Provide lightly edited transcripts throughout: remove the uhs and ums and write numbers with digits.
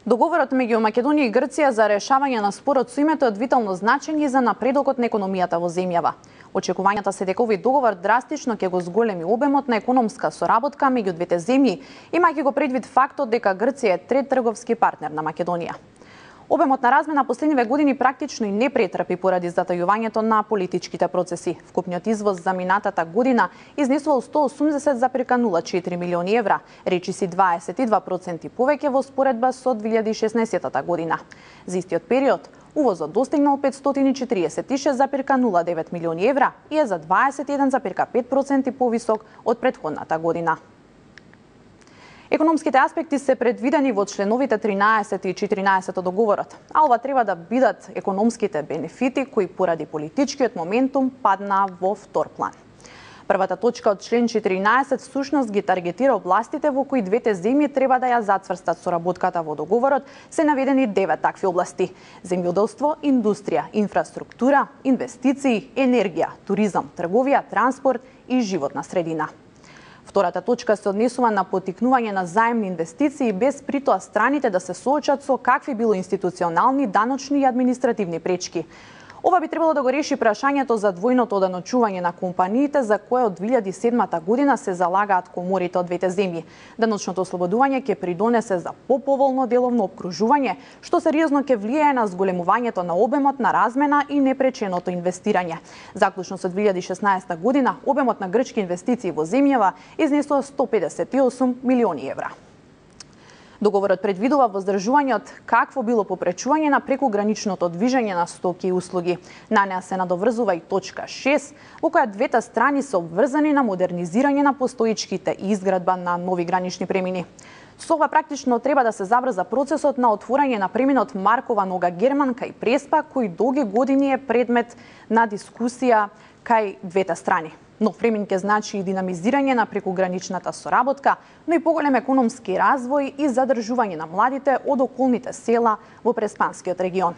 Договорот меѓу Македонија и Грција за решавање на спорот со името е од витално значење за напредокот на економијата во земјава. Очекувањата се дека овој договор драстично ќе го зголеми обемот на економска соработка меѓу двете земји, имајќи го предвид фактот дека Грција е трет трговски партнер на Македонија. Обемот на размена последниве години практично и не претрпи поради затајувањето на политичките процеси. Вкупниот извоз за минатата година изнесувал 180,04 милиони евра, речиси 22% повеќе во споредба со 2016 година. За истиот период, увозот достигнал 546,09 милиони евра и е за 21,5% повисок од претходната година. Економските аспекти се предвидени во членовите 13 и 14 од договорот, а ова треба да бидат економските бенефити кои поради политичкиот моментум паднаа во втор план. Првата точка од член 14 всушност ги таргетира областите во кои двете земји треба да ја зацврстат соработката во договорот, се наведени 9 такви области: земјоделство, индустрија, инфраструктура, инвестиции, енергија, туризам, трговија, транспорт и животна средина. Втората точка се однесува на поттикнување на заемни инвестиции без притоа страните да се соочат со какви било институционални, даночни и административни пречки. Ова би требало да го реши прашањето за двојното оданочување на компаниите за кое од 2007 година се залагаат коморите од двете земји. Даночното ослободување ќе придонесе за поповолно деловно опкружување, што сериозно ќе влијае на зголемувањето на обемот на размена и непреченото инвестирање. Заклучно со 2016 година, обемот на грчки инвестиции во земјава изнесува 158 милиони евра. Договорот предвидува воздржување од какво било попречување на прекуграничното движење на стоки и услуги. На неа се надоврзува и точка 6, во која двете страни се обврзани на модернизирање на постоечките и изградба на нови гранични премини. Со ова практично треба да се забрза процесот на отворање на преминот Маркова нога Германка и Преспа, кој долги години е предмет на дискусија кај двете страни. Нов премин ќе значи и динамизирање на прекуграничната соработка, но и поголем економски развој и задржување на младите од околните села во Преспанскиот регион.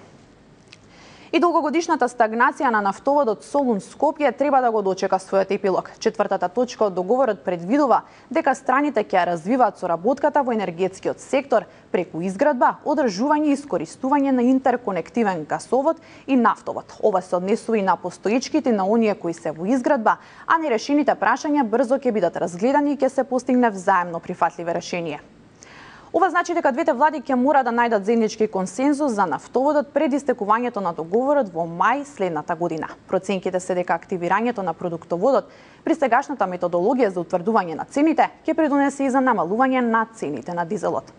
И долгогодишната стагнација на нафтоводот Солун-Скопје треба да го дочека својот епилог. Четвртата точка од договорот предвидува дека страните ќе ја развиваат соработката во енергетскиот сектор преку изградба, одржување и искористување на интерконективен гасовод и нафтовод. Ова се однесува и на постоечките на оние кои се во изградба, а нерешените прашања брзо ќе бидат разгледани и ќе се постигне взаемно прифатливе решение. Ова значи дека двете влади ќе мора да најдат заеднички консензус за нафтоводот пред истекувањето на договорот во мај следната година. Проценките се дека активирањето на продуктоводот при сегашната методологија за утврдување на цените ќе придонесе и за намалување на цените на дизелот.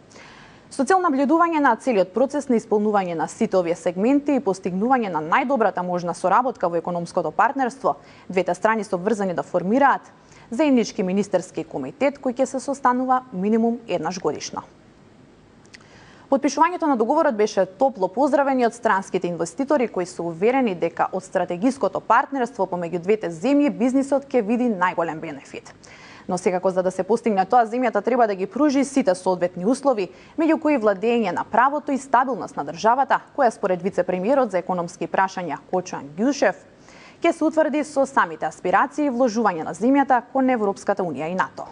Со цел наблюдување на целиот процес на исполнување на сите овие сегменти и постигнување на најдобрата можна соработка во економското партнерство, двете страни се обврзани да формираат заеднички министерски комитет кој ќе се состанува минимум еднаш годишно. Подпишувањето на договорот беше топло поздравени од странските инвеститори кои се уверени дека од стратегиското партнерство помеѓу двете земји бизнисот ќе види најголем бенефит. Но секако за да се постигне тоа, земјата треба да ги пружи сите соодветни услови, меѓу кои владење на правото и стабилност на државата, која според вице-премиерот за економски прашања Кочан Ѓушев ќе се утврди со самите аспирации и вложување на земјата кон Европската унија и НАТО.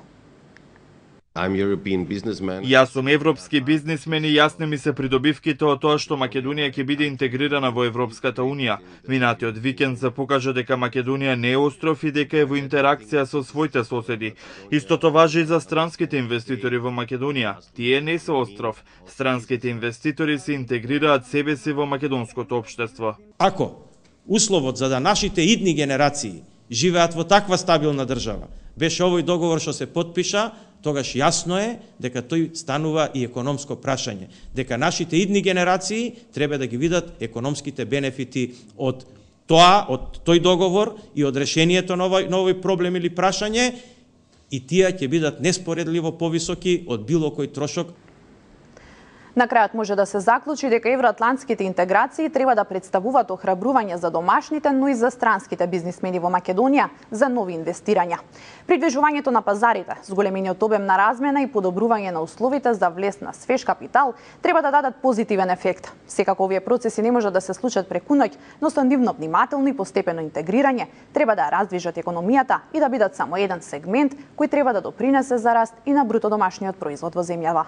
Јас сум европски бизнисмен и јасни ми се придобивките од тоа што Македонија ќе биде интегрирана во Европската унија. Минатиот викенд се покажа дека Македонија не е остров и дека е во интеракција со своите соседи. Истото важи и за странските инвеститори во Македонија. Тие не се остров. Странските инвеститори се интегрираат себе си во македонското општество. Ако условот за да нашите идни генерации живеат во таква стабилна држава беше овој договор што се потпиша, тогаш јасно е дека тој станува и економско прашање, дека нашите идни генерации треба да ги видат економските бенефити од тоа, од тој договор и од решението на овој проблем или прашање, и тие ќе бидат неспоредливо повисоки од било кој трошок. На крајот може да се заклучи дека евроатлантските интеграции треба да представуваат охрабрување за домашните, но и за странските бизнисмени во Македонија за нови инвестирања. Придвижувањето на пазарите, зголемениот обем на размена и подобрување на условите за влез на свеж капитал треба да дадат позитивен ефект. Секако овие процеси не може да се случат преку ноќ, но со нивно внимателно и постепено интегрирање треба да раздвижат економијата и да бидат само еден сегмент кој треба да допринесе за раст и на бруто домашниот производ во земјава.